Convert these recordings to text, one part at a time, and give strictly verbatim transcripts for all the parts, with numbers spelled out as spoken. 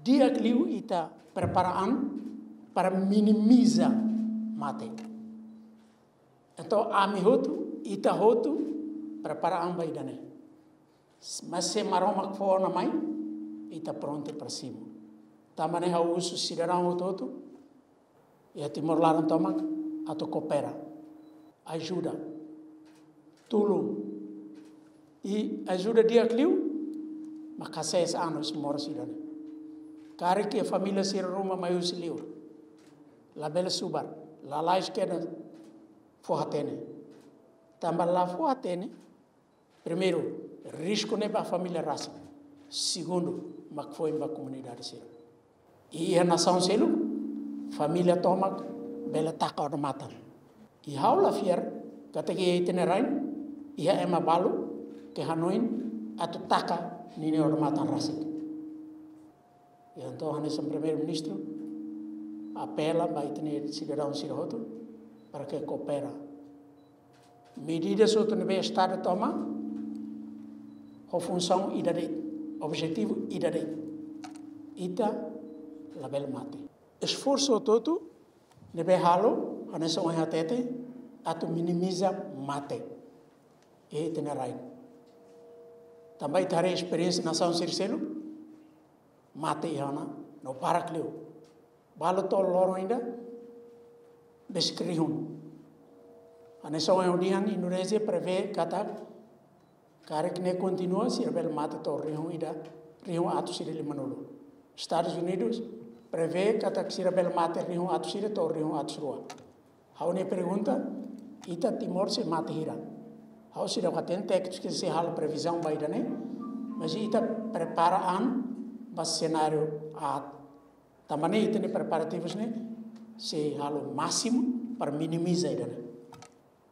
Di'ak liu ita prepara an para minimiza mate. Entaun ami hotu, ita hotu prepara an ba ida-ne'e. Mas se Maromak fó ona mai, ita prontu para simu. Tanba ne'e ha'u husu sidadaun hotu-hotu iha Timor laran tomak atu koopera, ajuda, tulun. I ajuda di'ak liu, mak hasees an husi moras ida-ne'e. Karik família sira ruma mai husi liur, labele subar, lalais kedas fó-hatene. Tanba la fó-hatene, primeiru, risku ne'e ba família rasik. Segundu, mak foin ba komunidade sira. I iha nasaun seluk, família tomak bele taka odamatan. I ha'u la fiar katak iha ita-nia rain iha ema balu ke hanoin atu taka ninia odamatan rasik. Entaun hanesan Primeiru-Ministru apela ba ita-nia sidadaun sira hotu para ke koopera. Medidas hotu ne'ebé Estadu toma ho funsaun ida de'it, objetivu ida de'it. Ita labele mate. Esforsu hotu-hotu ne'ebé halo, hanesan ohin hatete, atu minimiza mate iha ita-nia rain. Tanba ita haree esperiénsia nasaun sira seluk, mate iha ona no barak liu. Balu to'o loron ida besik rihun. Hanesan ohin ha'u dehan, Indonézia prevee katak karik ne'e kontinua, sira bele mate to'o rihun ida, rihun atus ida limanulu. Estadus Unidus prevee katak sira bele mate rihun atus ida to'o rihun atus rua. Ha'u-nia pergunta, ita Timor sei mate hira? Ha'u seidauk hatene tékniku sira sei halo previzaun ba ida-ne'e, mas ita prepara an ba senáriu aat. Tanba ne'e ita-nia preparativus ne'e sei halo másimu para minimiza ida-ne'e.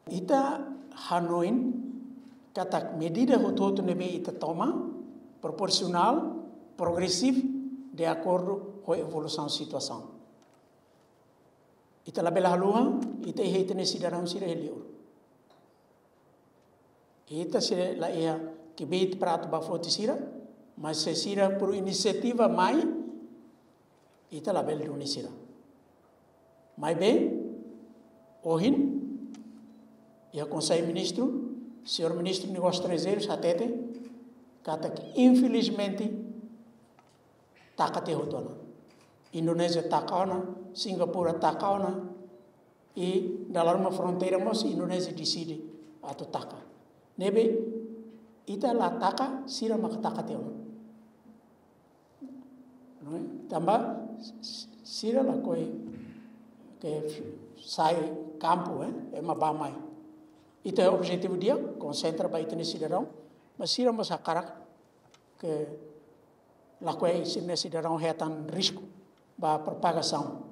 Ita hanoin katak medida hotu-hotu ne'ebé ita toma proporsionál, progresivu, de akordu ho evolusaun situasaun. Ita labele haluha, ita iha ita-nia sidadaun sira iha liur. Ita sei la iha kbiit para atu bá foti sira, mas se sira por inisiativa mai, ita labele duni sira. Maibé, ohin, iha Konsellu Ministru, Señór Ministru Negósius Estranjeirus hatete katak infelizmente taka tiha hotu ona. Indonézia taka ona, Singapura taka ona, i dala ruma fronteira mós Indonézia deside atu taka. Ne'ebé ita la taka, sira maka taka tiha ona. Não é? Tanba s-, sira lakohi ke sai kampu, eh, ema bá mai. Ita objetivu di'ak, konsentra ba ita-nia sidadaun, mas sira mós hakarak ke lakohi sira-nia sidadaun hetan risku ba propagasaun